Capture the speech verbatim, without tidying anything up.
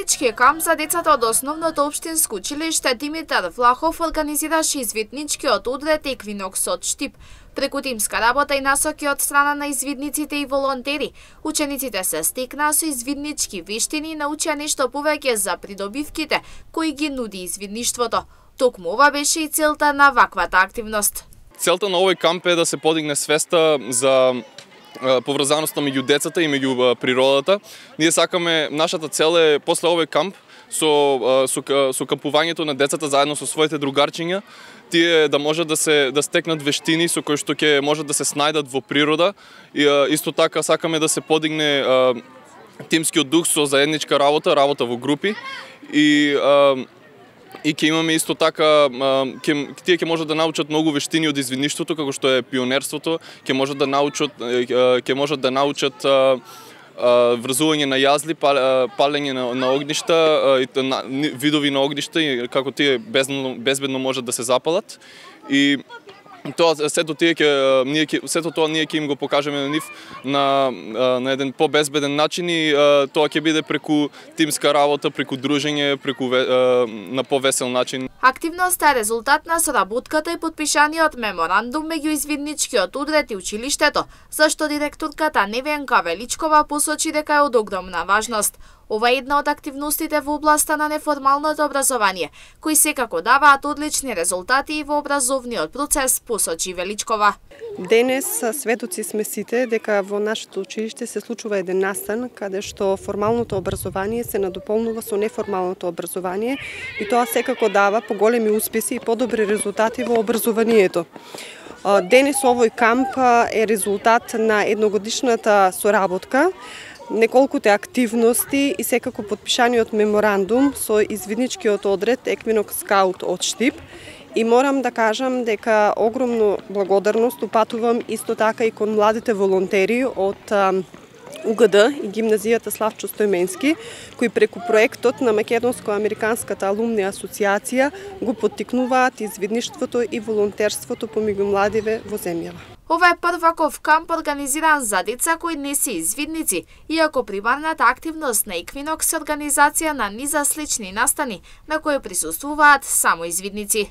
Извиднички камп за децата од основното општинско училиште Димитар Влахов организираше извидничкиот удрет Еквинокс од Штип. Преку тимска работа и насоки од страна на извидниците и волонтери, учениците се стекнаа со извиднички вештини и научија нешто повеќе за придобивките кои ги нуди извидништвото. Токму ова беше и целта на ваквата активност. Целта на овој камп е да се подигне свеста за поврзаноста меѓу децата и меѓу природата. Ние сакаме, нашата цел е после овој камп со со со кампувањето на децата заедно со своите другарчиња, тие да можат да се да стекнат вештини со кои што ќе можат да се снајдат во природа и исто така сакаме да се подигне тимскиот дух со заедничка работа, работа во групи и И ќе имаме исто така, ќе, тие ќе можат да научат многу вештини од извидништвото, како што е пионерството, ќе можат да научат, ќе можат да научат врзување на јазли, палење на, на огништа, видови на огништа и како тие безбедно, безбедно можат да се запалат. И тоа сето тие ќе ние ќе сето тоа ние ќе им го покажеме на нив на на еден побезбеден начин и тоа ќе биде преку тимска работа, преку дружење, преку на повесел начин. Активноста е резултат на соработката и подпишаниот меморандум меѓу извидничкиот удрет и училиштето, зашто директорката Невенка Величкова посочи дека е од огромна важност. Ова е една од активностите во областа на неформалното образование, кои секако даваат одлични резултати и во образовниот процес, посочи Величкова. Денес сведоци сме сите дека во нашето училиште се случува еден настан каде што формалното образование се надополнува со неформалното образование и тоа секако дава поголеми успеси и подобри резултати во образованието. Денес овој камп е резултат на едногодишната соработка, неколкуте активности и секако подпишаниот меморандум со извидничкиот одред Еквинокс од Штип. И морам да кажам дека огромно благодарност упатувам исто така и кон младите волонтери од У Г Д и гимназијата Славчо Стојменски, кои преку проектот на Македонско-американската алумни асоциација го поттикнуваат извидништвото и волонтерството помеѓу младиве во земјава. Ова е прваков камп организиран за деца кои не се извидници, иако примарната активност на Еквинокс е организација на низа слични настани, на кои присуствуваат само извидници.